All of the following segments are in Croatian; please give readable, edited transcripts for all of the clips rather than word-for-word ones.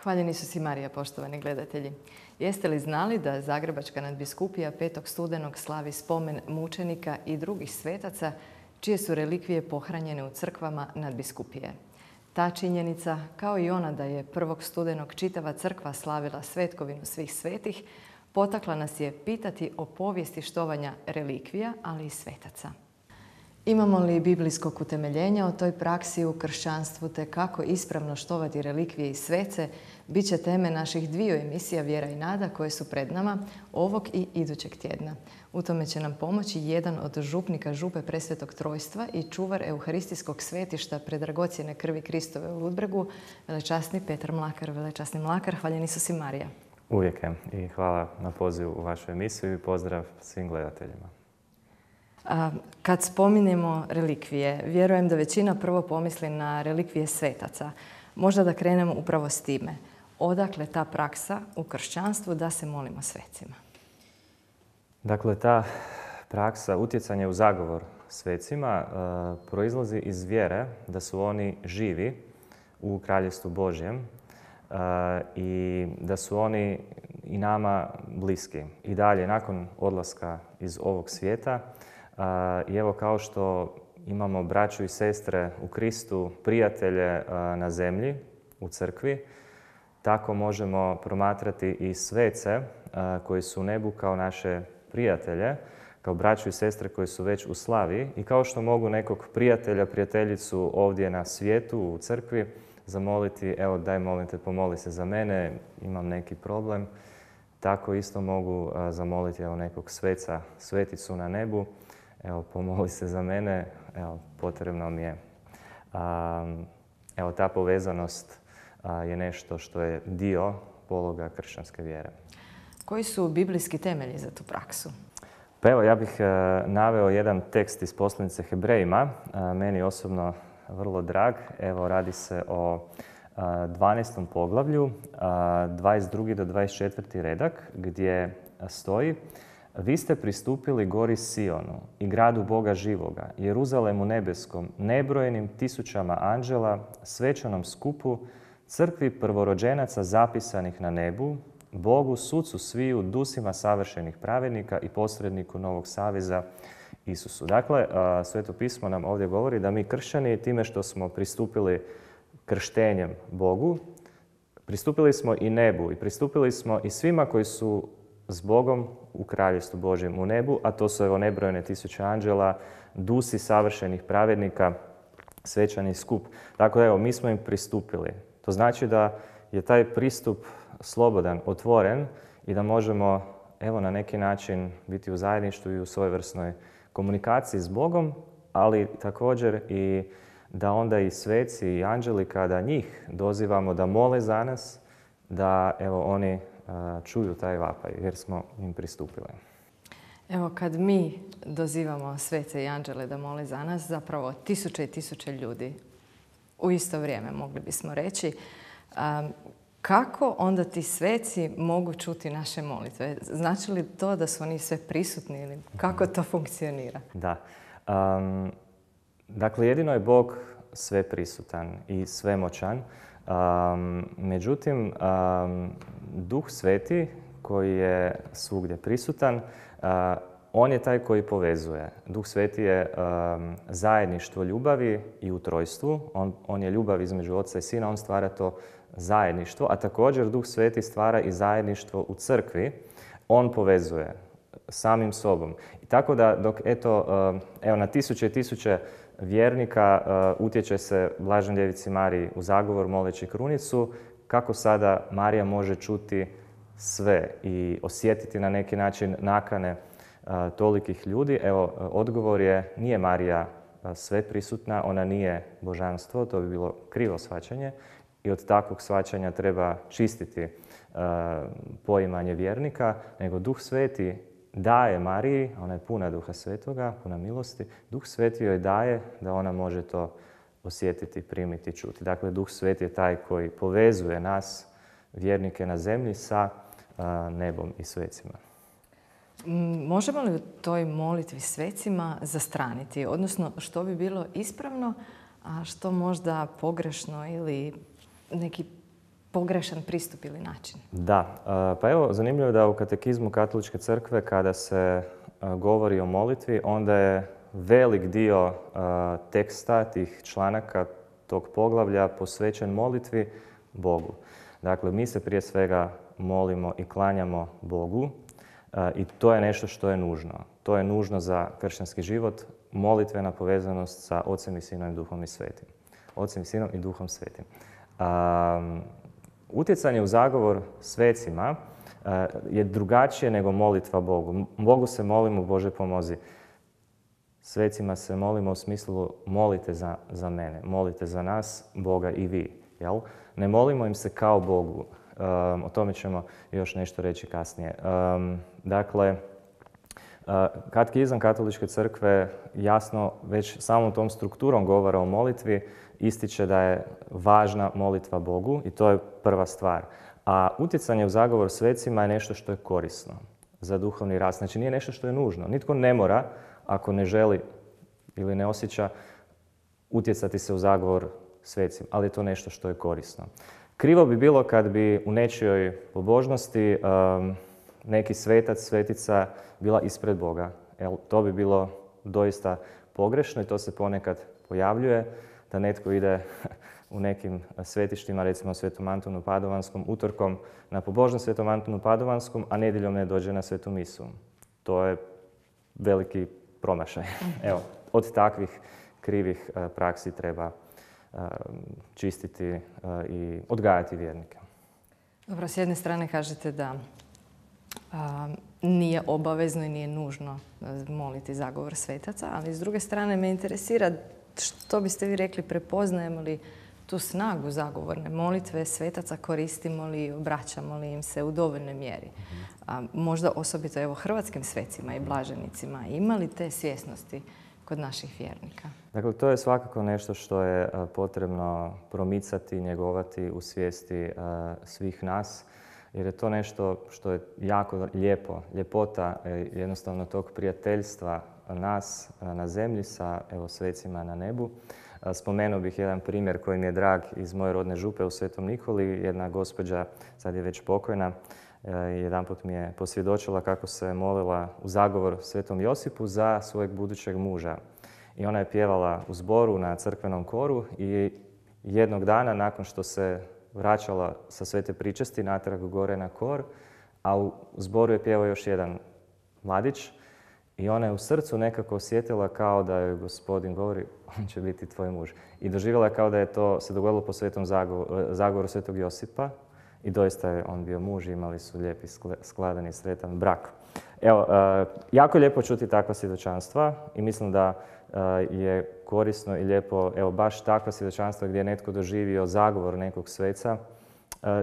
Hvaljeni Isus i Marija, poštovani gledatelji. Jeste li znali da Zagrebačka nadbiskupija 5. studenog slavi spomen mučenika i drugih svetaca čije su relikvije pohranjene u crkvama nadbiskupije? Ta činjenica, kao i ona da je 1. studenog čitava crkva slavila svetkovinu svih svetih, potakla nas je pitati o povijesti štovanja relikvija, ali i svetaca. Imamo li biblijskog utemeljenja o toj praksi u kršćanstvu te kako ispravno štovati relikvije i svece, bit će teme naših dviju emisija Vjera i nada koje su pred nama ovog i idućeg tjedna. U tome će nam pomoći jedan od župnika župe Presvetog Trojstva i čuvar Euharistijskog svetišta predragocjene krvi Kristove u Ludbregu, velečasni Petar Mlakar. Velečasni Mlakar, hvaljen Isus i Marija. Uvijek je i hvala na pozivu u vašu emisiju i pozdrav svim gledateljima. Kad spominjemo relikvije, vjerujem da većina prvo pomisli na relikvije svetaca. Možda da krenemo upravo s time. Odakle ta praksa u kršćanstvu da se molimo svecima? Dakle, ta praksa utjecanja u zagovor svecima proizlazi iz vjere da su oni živi u Kraljevstvu Božjem i da su oni i nama bliski. I dalje, nakon odlaska iz ovog svijeta, i evo kao što imamo braću i sestre u Kristu, prijatelje na zemlji, u crkvi, tako možemo promatrati i svece koji su u nebu kao naše prijatelje, kao braću i sestre koji su već u slavi. I kao što mogu nekog prijatelja, prijateljicu ovdje na svijetu, u crkvi, zamoliti, evo daj molim te pomoli se za mene, imam neki problem, tako isto mogu zamoliti evo nekog sveca, sveticu na nebu, evo pomoli se za mene, evo potrebno mi je. Evo ta povezanost je nešto što je dio pologa kršćanske vjere. Koji su biblijski temelji za tu praksu? Pa evo ja bih naveo jedan tekst iz poslanice Hebrejima, meni osobno vrlo drag. Evo radi se o 12. poglavlju, 22. do 24. redak, gdje stoji: Vi ste pristupili gori Sionu i gradu Boga živoga, Jeruzalemu nebeskom, nebrojenim tisućama anđela, svečanom skupu, crkvi prvorođenaca zapisanih na nebu, Bogu, sucu sviju, dusima savršenih pravednika i posredniku Novog saveza, Isusu. Dakle, Sveto pismo nam ovdje govori da mi kršćani time što smo pristupili krštenjem Bogu, pristupili smo i nebu i pristupili smo i svima koji su s Bogom u Kraljevstvu Božjem u nebu, a to su evo nebrojene tisuće anđela, dusi savršenih pravednika, svečani skup. Dakle, evo, mi smo im pristupili. To znači da je taj pristup slobodan, otvoren i da možemo evo na neki način biti u zajedništvu i u svojevrsnoj komunikaciji s Bogom, ali također i da onda i sveci i anđeli kada njih dozivamo da mole za nas, da evo oni čuju taj vapaj jer smo im pristupili. Evo kad mi dozivamo svece i anđele da mole za nas, zapravo tisuće i tisuće ljudi u isto vrijeme, mogli bismo reći. Kako onda ti sveci mogu čuti naše molitve? Znači li to da su oni sve prisutni ili kako to funkcionira? Da. Dakle, jedino je Bog sve prisutan i svemoćan. Međutim, Duh Sveti koji je svugdje prisutan, on je taj koji povezuje. Duh Sveti je zajedništvo ljubavi i u trojstvu. On je ljubav između Oca i Sina, on stvara to zajedništvo, a također Duh Sveti stvara i zajedništvo u crkvi. On povezuje samim sobom. I tako da dok evo na tisuće i tisuće vjernika utječe se Blaženoj Djevici Mariji u zagovor moleći krunicu, kako sada Marija može čuti sve i osjetiti na neki način nakane tolikih ljudi? Evo, odgovor je, nije Marija sve prisutna, ona nije božanstvo, to bi bilo krivo shvaćanje i od takvog shvaćanja treba čistiti poimanje vjernika, nego Duh Sveti daje Mariji, ona je puna Duha Svetoga, puna milosti, Duh Sveti joj daje da ona može to osjetiti, primiti, čuti. Dakle, Duh Sveti je taj koji povezuje nas, vjernike na zemlji, sa nebom i svecima. Možemo li u toj molitvi svecima zastraniti? Odnosno, što bi bilo ispravno, a što možda pogrešno ili neki pogrešan pristup ili način. Da, pa evo zanimljivo je da u katekizmu Katoličke crkve kada se govori o molitvi, onda je velik dio teksta, tih članaka, tog poglavlja posvećen molitvi Bogu. Dakle, mi se prije svega molimo i klanjamo Bogu i to je nešto što je nužno. To je nužno za kršćanski život, molitvena povezanost sa Ocem i Sinom i Duhom i Svetim. Ocem i Sinom i Duhom Svetim. Utjecanje u zagovor svecima je drugačije nego molitva Bogu. Bogu se molimo, Bože pomozi. Svecima se molimo u smislu molite za mene, molite za nas, Boga i vi. Jel? Ne molimo im se kao Bogu. O tome ćemo još nešto reći kasnije. Dakle, katekizam Katoličke crkve jasno već samom tom strukturom govora o molitvi ističe da je važna molitva Bogu i to je prva stvar. A utjecanje u zagovor svecima je nešto što je korisno za duhovni rast. Znači nije nešto što je nužno. Nitko ne mora, ako ne želi ili ne osjeća, utjecati se u zagovor svecima, ali je to nešto što je korisno. Krivo bi bilo kad bi u nečijoj pobožnosti neki svetac, svetica bila ispred Boga. To bi bilo doista pogrešno i to se ponekad pojavljuje, da netko ide u nekim svetištima, recimo Svetom Antunu Padovanskom, utorkom na pobožnost Svetom Antunu Padovanskom, a nedjeljom ne dođe na Svetu misu. To je veliki promašaj. Evo, od takvih krivih praksi treba čistiti i odgajati vjernike. Dobro, s jedne strane kažete da nije obavezno i nije nužno moliti zagovor svetaca, ali s druge strane me interesira što biste vi rekli, prepoznajemo li tu snagu zagovorne molitve svetaca, koristimo li, obraćamo li im se u dovoljnoj mjeri. Možda osobito evo hrvatskim svecima i blaženicima, ima li te svjesnosti kod naših vjernika? Dakle, to je svakako nešto što je potrebno promicati, njegovati u svijesti svih nas, jer je to nešto što je jako lijepo, ljepota jednostavno tog prijateljstva nas na zemlji sa svecima na nebu. Spomenuo bih jedan primjer koji mi je drag iz moje rodne župe u Svetom Nikoli. Jedna gospođa, sad je već pokojna, jedanput mi je posvjedočila kako se molila u zagovor Svetom Josipu za svojeg budućeg muža. I ona je pjevala u zboru na crkvenom koru i jednog dana nakon što se vraćala sa svete pričesti natrag gore na kor, a u zboru je pjevao još jedan mladić i ona je u srcu nekako osjetila kao da joj Gospodin govori on će biti tvoj muž. I doživjela je kao da je to se dogodilo po svetom zagovoru Svetog Josipa i doista je on bio muž i imali su lijepi, skladan i sretan brak. Evo, jako je lijepo čuti takva svjedočanstva i mislim da je korisno i lijepo, evo baš takva svjedočanstva gdje je netko doživio zagovor nekog sveca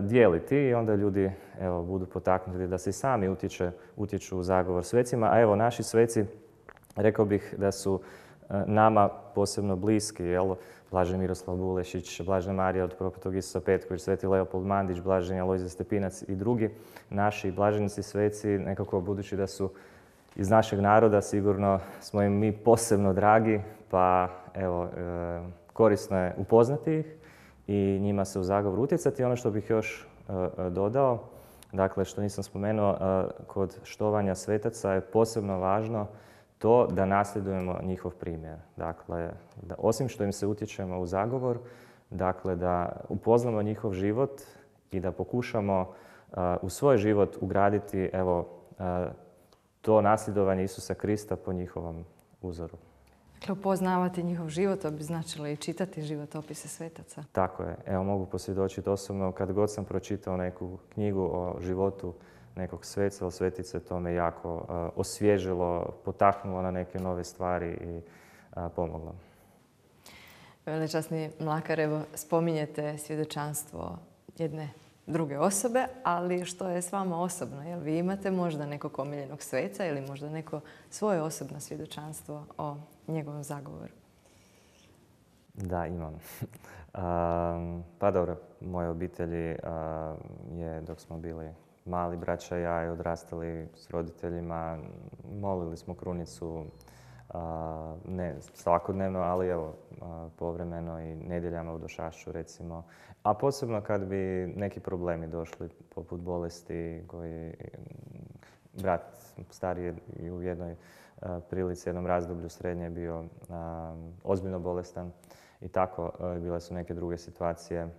dijeliti i onda ljudi evo, budu potaknuti da se i sami utječu u zagovor svecima. A evo, naši sveci, rekao bih da su nama posebno bliski, jel? Blaženi Miroslav Bulešić, Blažena Marija od Propatog Isusa Petković, Sveti Leopold Mandić, Blaženi Alojzije Stepinac i drugi naši blaženici sveci, nekako budući da su iz našeg naroda, sigurno smo im mi posebno dragi, pa evo, korisno je upoznati ih i njima se u zagovor utjecati. Ono što bih još dodao, dakle što nisam spomenuo, kod štovanja svetaca je posebno važno to da nasljedujemo njihov primjer. Dakle, da osim što im se utječemo u zagovor, dakle da upoznamo njihov život i da pokušamo u svoj život ugraditi evo, to nasljedovanje Isusa Krista po njihovom uzoru. Dakle, upoznavati njihov život, to bi značilo i čitati životopise svetaca. Tako je. Evo, mogu posvjedočiti osobno, kad god sam pročitao neku knjigu o životu nekog sveca ili svetice, to me jako osvježilo, potaknulo na neke nove stvari i pomoglo. Velečasni Mlakar, evo, spominjete svjedočanstvo jedne druge osobe, ali što je s vama osobno? Jel vi imate možda nekog omiljenog sveca ili možda neko svoje osobno svjedočanstvo o njegovom zagovoru? Da, imam. Pa dobro, moje obitelji je, dok smo bili mali braća i ja i odrastali s roditeljima, molili smo krunicu ne svakodnevno, ali evo, povremeno i nedjeljama u Došašću recimo. A posebno kad bi neki problemi došli, poput bolesti koji brat stariji i u jednoj prilici, jednom razdoblju srednje je bio ozbiljno bolestan i tako bile su neke druge situacije.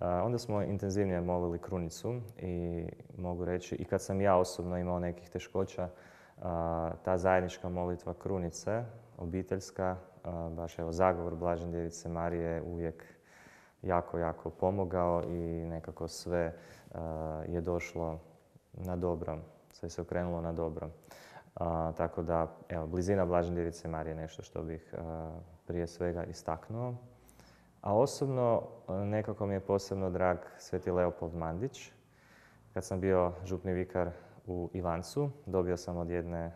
Onda smo intenzivnije molili krunicu i mogu reći i kad sam ja osobno imao nekih teškoća, ta zajednička molitva krunice, obiteljska, baš evo zagovor Blažene Djevice Marije je uvijek jako, jako pomogao i nekako sve je došlo na dobro, sve se okrenulo na dobro. Tako da, evo, blizina Blažene Djevice Marije je nešto što bih prije svega istaknuo. A osobno nekako mi je posebno drag Sveti Leopold Mandić. Kad sam bio župni vikar u Ivancu, dobio sam od jedne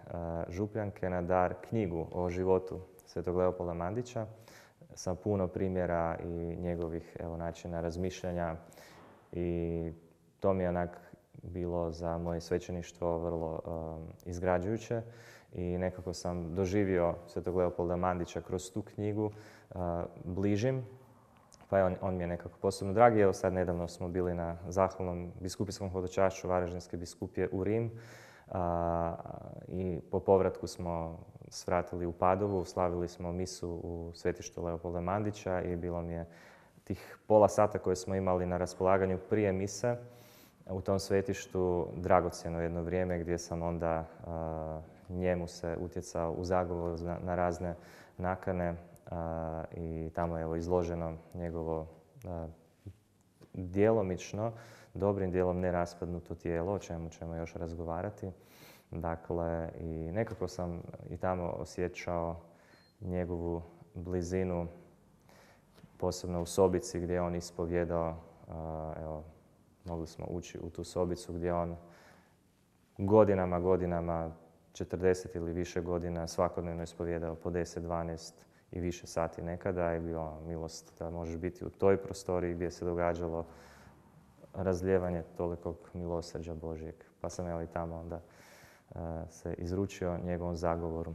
župljanke na dar knjigu o životu Svetog Leopolda Mandića sa puno primjera i njegovih načina razmišljanja i to mi je onak bilo za moje svećeništvo vrlo izgrađujuće i nekako sam doživio Svetog Leopolda Mandića kroz tu knjigu bližim. Pa je on mi je nekako posebno dragi. Evo sad nedavno smo bili na zahvalnom biskupijskom hodočašću Varaždinske biskupije u Rim i po povratku smo svratili u Padovu, slavili smo misu u svetištu Leopolda Mandića i bilo mi je tih pola sata koje smo imali na raspolaganju prije mise u tom svetištu dragocjeno jedno vrijeme gdje sam onda njemu se utjecao u zagovor na razne nakane. I tamo je izloženo njegovo djelomično, dobrim dijelom neraspadnuto tijelo, o čemu ćemo još razgovarati. Dakle, i nekako sam i tamo osjećao njegovu blizinu, posebno u sobici gdje je on ispovjedao, evo, mogli smo ući u tu sobicu gdje on godinama, 40 ili više godina svakodnevno ispovjedao po 10, 12 i više sati nekada je bila milost da možeš biti u toj prostoriji gdje se događalo razlijevanje tolikog milosrđa Božjeg. Pa sam evo i tamo onda se izručio njegovom zagovoru.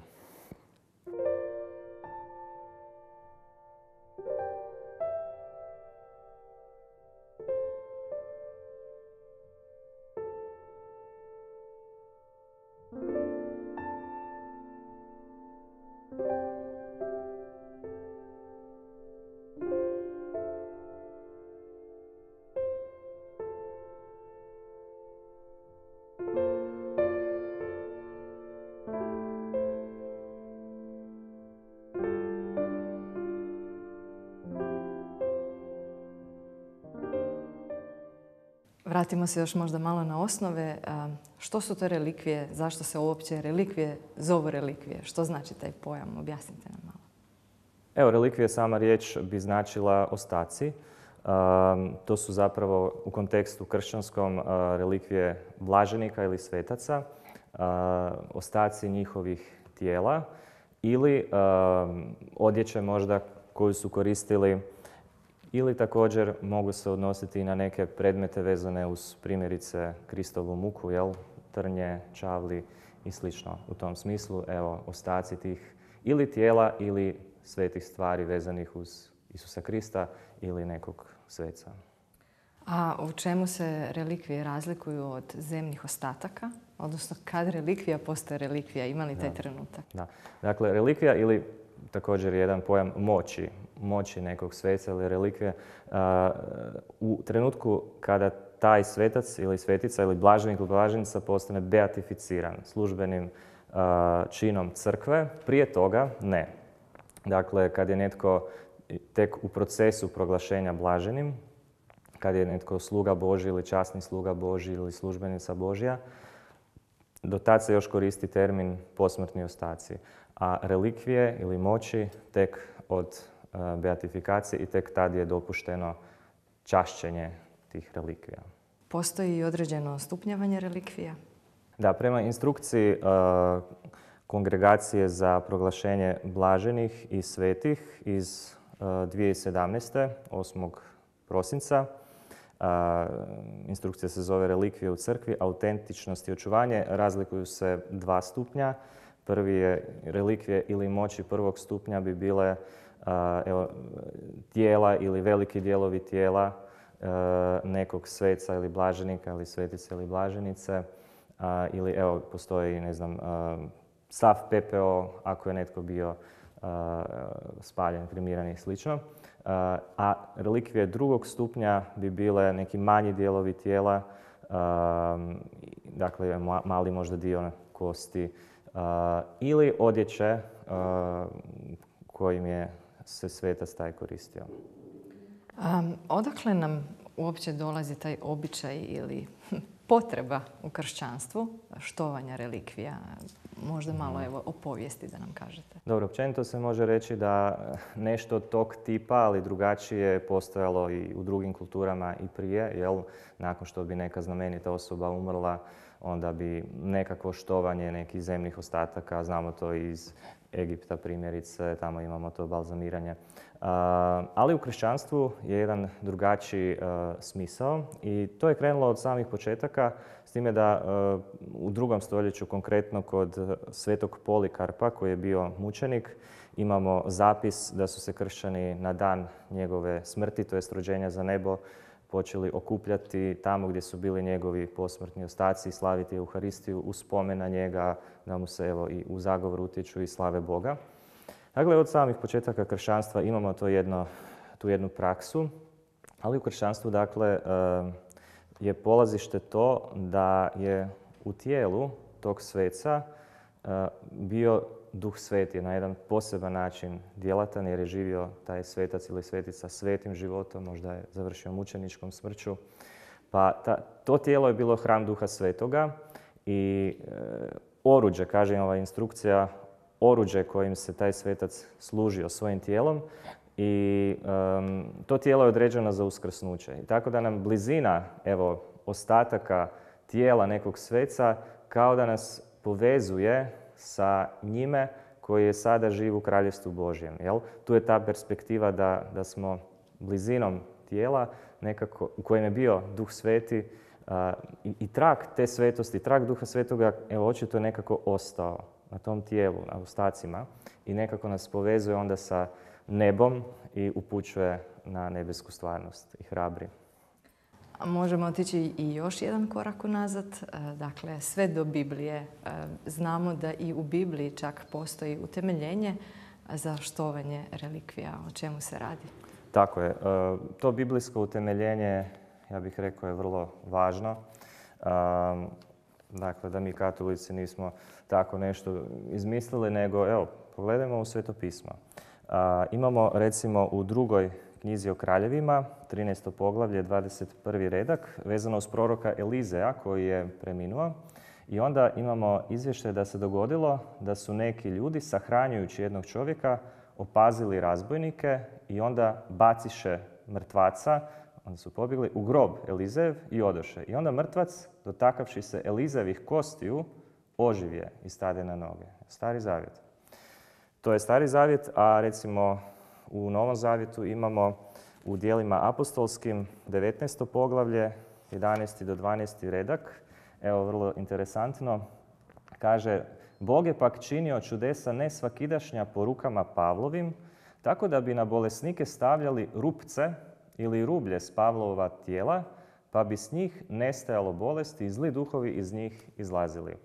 Vratimo se još možda malo na osnove. Što su to relikvije? Zašto se uopće relikvije zovu relikvije? Što znači taj pojam? Objasnite nam malo. Evo, relikvije, sama riječ bi značila ostaci. To su zapravo u kontekstu kršćanskom relikvije blaženika ili svetaca, ostaci njihovih tijela ili odjeće možda koju su koristili ili također mogu se odnositi i na neke predmete vezane uz primjerice Kristovu muku, trnje, čavli i slično. U tom smislu, evo, ostaci tih ili tijela ili svetih stvari vezanih uz Isusa Krista ili nekog sveca. A u čemu se relikvije razlikuju od zemnih ostataka? Odnosno, kad relikvija postaje relikvija? Ima li taj trenutak? Da. Dakle, relikvija ili također jedan pojam moći nekog sveca ili relikvije. U trenutku kada taj svetac ili svetica ili blaženik ili blaženica postane beatificiran službenim činom crkve, prije toga ne. Dakle, kad je netko tek u procesu proglašenja blaženim, kad je netko sluga Božji ili časni sluga Božji ili službenica Božja, do tad se još koristi termin posmrtni ostaci. A relikvije ili moći tek od beatifikacije i tek tad je dopušteno čašćenje tih relikvija. Postoji i određeno stupnjavanje relikvija? Da, prema instrukciji Kongregacije za proglašenje blaženih i svetih iz 2017. 8. prosinca. Instrukcija se zove Relikvije u crkvi, autentičnost i očuvanje. Razlikuju se 2 stupnja. Prvi je relikvije ili moći prvog stupnja bi bile tijela ili veliki dijelovi tijela nekog sveca ili blaženika ili svetice ili blaženice. Ili evo, postoji, ne znam, sav pepeo ako je netko bio spaljen, kremiran i slično. A relikvije drugog stupnja bi bile neki manji dijelovi tijela, dakle mali možda dio kosti, ili odjeće kojim je se svetac taj koristio. Odakle nam uopće dolazi taj običaj ili potreba u kršćanstvu štovanja relikvija? Možda malo o povijesti da nam kažete. Dobro, općenito se može reći da nešto tog tipa, ali drugačije je postojalo i u drugim kulturama i prije, jel? Nakon što bi neka znamenita osoba umrla, onda bi nekakvo štovanje nekih zemnih ostataka, znamo to iz Egipta primjerice, tamo imamo to balzamiranje. Ali u kršćanstvu je jedan drugačiji smisao i to je krenulo od samih početaka, s time da u 2. stoljeću, konkretno kod svetog Polikarpa, koji je bio mučenik, imamo zapis da su se kršćani na dan njegove smrti, to jest rođenja za nebo, počeli okupljati tamo gdje su bili njegovi posmrtni ostaci i slaviti Euharistiju u spomen na njega, da mu se evo i u zagovor utječu i slave Boga. Dakle, od samih početaka kršćanstva imamo tu jednu praksu, ali u kršćanstvu dakle, je polazište to da je u tijelu tog sveca bio Duh Sveti na jedan poseban način djelatan, jer je živio taj svetac ili svetica svetim životom, možda je završio mučeničkom smrću. Pa to tijelo je bilo hram Duha Svetoga i oruđe, kaže ova instrukcija, oruđe kojim se taj svetac služio svojim tijelom i to tijelo je određeno za uskrsnuće. I tako da nam blizina ostataka tijela nekog sveca kao da nas povezuje sa njime koji je sada živ u Kraljevstvu Božjem. Jel? Tu je ta perspektiva da smo blizinom tijela nekako, u kojem je bio Duh Sveti i trag te svetosti, trag Duha Svetoga, očito je nekako ostao na tom tijelu, na ostacima i nekako nas povezuje onda sa nebom i upućuje na nebesku stvarnost i hrabri. Možemo otići i još jedan korak unazad. Dakle, sve do Biblije. Znamo da i u Bibliji čak postoji utemeljenje za štovanje relikvija. O čemu se radi? Tako je. To biblijsko utemeljenje, ja bih rekao, je vrlo važno. Dakle, da mi katolici nismo tako nešto izmislili, nego evo, pogledajmo u Sveto pismo. Imamo recimo u 2. knjizi o kraljevima, 13. poglavlje, 21. redak, vezano uz proroka Elizeja koji je preminuo. I onda imamo izvještaj da se dogodilo da su neki ljudi, sahranjujući jednog čovjeka, opazili razbojnike i onda baciše mrtvaca, onda su pobjegli u grob Elizejev i odoše. I onda mrtvac, dotakavši se Elizejevih kostiju, oživje i stade na noge. Stari zavjet. To je Stari zavjet, a recimo u Novom zavjetu imamo u dijelima apostolskim 19. poglavlje, 11. do 12. redak. Evo, vrlo interesantno. Kaže, Bog je pak činio čudesa ne svakidašnja po rukama Pavlovim, tako da bi na bolesnike stavljali rupce ili rublje s Pavlova tijela, pa bi s njih nestajalo bolesti i zli duhovi iz njih izlazili.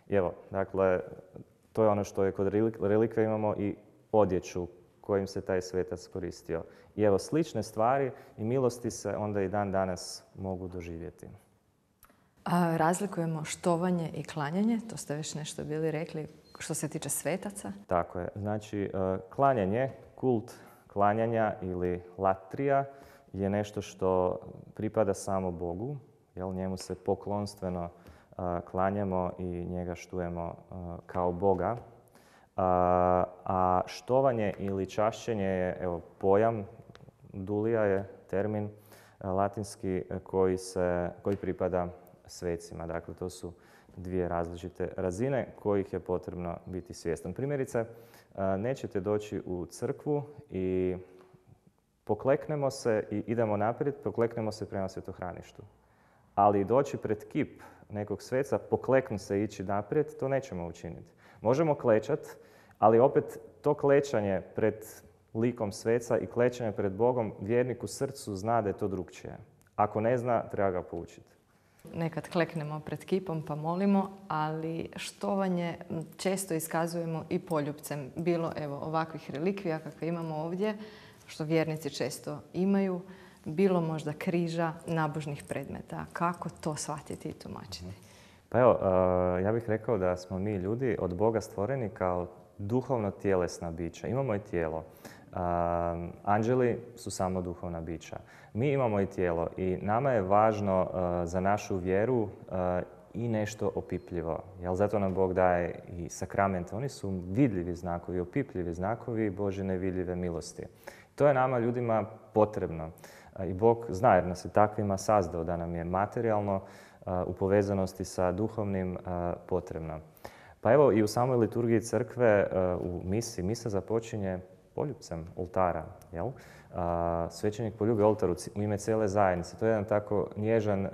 I evo, dakle, to je ono što je kod relikve, imamo i odjeću kojim se taj svetac koristio. I evo, slične stvari i milosti se onda i dan danas mogu doživjeti. Razlikujemo štovanje i klanjanje, to ste već nešto bili rekli, što se tiče svetaca. Tako je. Znači, klanjanje, kult klanjanja ili latrija je nešto što pripada samo Bogu. Jel, njemu se poklonstveno klanjamo i njega štujemo kao Boga. A štovanje ili čašćenje je pojam, dulija je termin latinski koji pripada svecima. Dakle, to su dvije različite razine kojih je potrebno biti svjestan. Primjerice, nećete doći u crkvu i pokleknemo se i idemo naprijed, pokleknemo se prema svetohraništu. Ali doći pred kip nekog sveca, pokleknu se i ići naprijed, to nećemo učiniti. Možemo klečat, ali opet to klečanje pred likom sveca i klečanje pred Bogom, vjernik u srcu zna da je to drugčije. Ako ne zna, treba ga poučiti. Nekad kleknemo pred kipom pa molimo, ali štovanje često iskazujemo i poljupcem. Bilo ovakvih relikvija kakve imamo ovdje, što vjernici često imaju, bilo možda križa, nabožnih predmeta. Kako to shvatiti i tumačiti? Pa evo, ja bih rekao da smo mi ljudi od Boga stvoreni kao duhovno tjelesna bića. Imamo i tijelo. Anđeli su samo duhovna bića. Mi imamo i tijelo i nama je važno za našu vjeru i nešto opipljivo. Jel, zato nam Bog daje i sakramente. Oni su vidljivi znakovi, opipljivi znakovi Božje nevidljive milosti. To je nama ljudima potrebno. I Bog zna jer nas je takvima sazdao da nam je materijalno u povezanosti sa duhovnim potrebno. Pa evo i u samoj liturgiji crkve u misi, misa započinje poljupcem oltara. Jel? Svećenik poljubi oltar u ime cijele zajednice. To je jedan tako nježan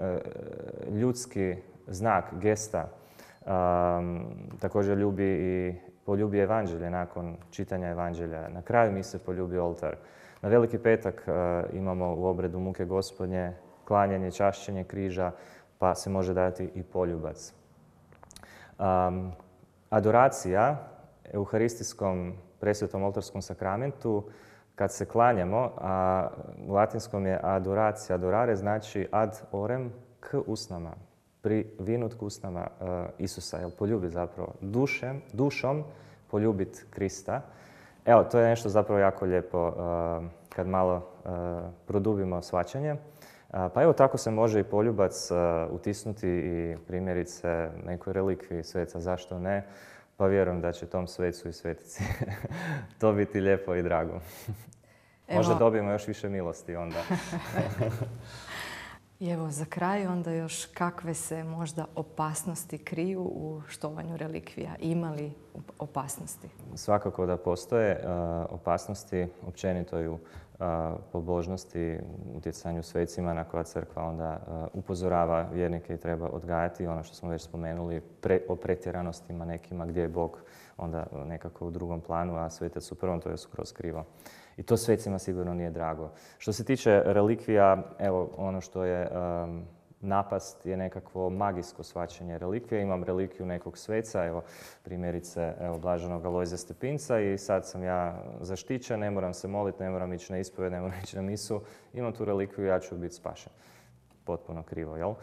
ljudski znak, gesta. Također poljubi evanđelje nakon čitanja evanđelja. Na kraju mise poljubi oltar. Na Veliki petak imamo u obredu muke Gospodnje klanjanje, čašćenje križa, pa se može dati i poljubac. Adoracija euharistijskom presvetom oltarskom sakramentu, kad se klanjamo, a u latinskom je adoracija, adorare znači ad orem, k usnama, privinut k usnama Isusa, jel poljubi zapravo dušom poljubit Krista. Evo, to je nešto zapravo jako lijepo kad malo produbimo shvaćanje. Pa evo tako se može i poljubac utisnuti i primjerice nekoj relikviji sveca, zašto ne? Pa vjerujem da će tom svecu i svetici to biti lijepo i drago. Možda dobijemo još više milosti onda. I evo za kraj onda još kakve se možda opasnosti kriju u štovanju relikvija? Ima li opasnosti? Svakako da postoje opasnosti općenito i u pobožnosti, utjecanju svecima na koja crkva onda upozorava vjernike i treba odgajati. Ono što smo već spomenuli o pretjeranostima nekima gdje je Bog onda nekako u drugom planu, a svetac u prvom, to je skroz krivo. I to svecima sigurno nije drago. Što se tiče relikvija, evo ono što je napast je nekakvo magijsko shvaćanje relikvije. Imam relikviju nekog sveca, evo primjerice blaženog Alojzija Stepinca i sad sam ja zaštićen, ne moram se moliti, ne moram ići na ispovijed, ne moram ići na misu. Imam tu relikviju, ja ću biti spašen. Potpuno krivo, jel?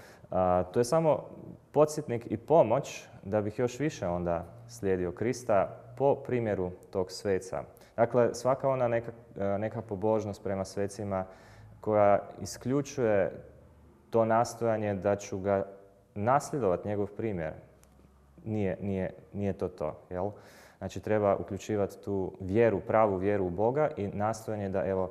To je samo podsjetnik i pomoć da bih još više onda slijedio Krista po primjeru tog sveca. Dakle, svaka ona neka pobožnost prema svecima koja isključuje to nastojanje da ću ga nasljedovati, njegov primjer, nije to, jel? Znači, treba uključivati tu vjeru, pravu vjeru u Boga i nastojanje da, evo,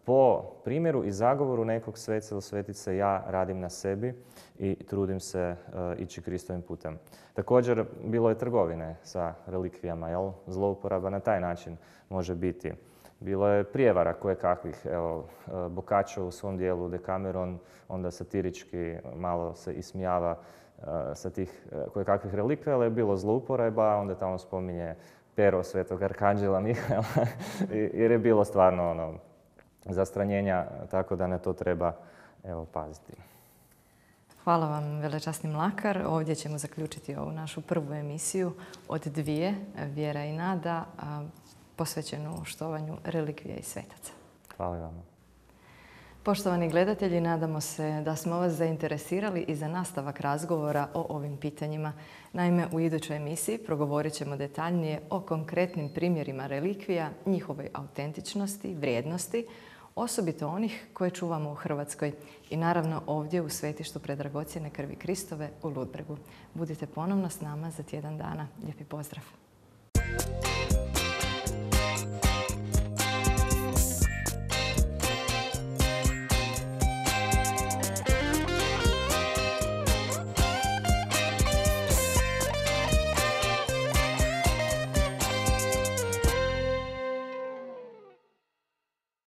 po primjeru i zagovoru nekog sveca ili svetice ja radim na sebi i trudim se ići Kristovim putem. Također, bilo je trgovine sa relikvijama, jel? Zlouporaba na taj način može biti. Bilo je prijevara kojekakvih, evo, Boccaccio u svom dijelu Decameron, onda satirički malo se ismijava sa tih kojekakvih relikvija, ali je bilo zlouporaba, onda tamo spominje pero svetog arkanđela Mihaela, jer je bilo stvarno zastranjenja, tako da na to treba paziti. Hvala vam, velečasni Mlakar. Ovdje ćemo zaključiti ovu našu prvu emisiju od dvije, Vjera i nada, posvećenu štovanju relikvija i svetaca. Hvala vam. Poštovani gledatelji, nadamo se da smo vas zainteresirali i za nastavak razgovora o ovim pitanjima. Naime, u idućoj emisiji progovorit ćemo detaljnije o konkretnim primjerima relikvija, njihovoj autentičnosti, vrijednosti, osobito onih koje čuvamo u Hrvatskoj i naravno ovdje u svetištu predragocjene krvi Kristove u Ludbregu. Budite ponovno s nama za tjedan dana. Lijepi pozdrav!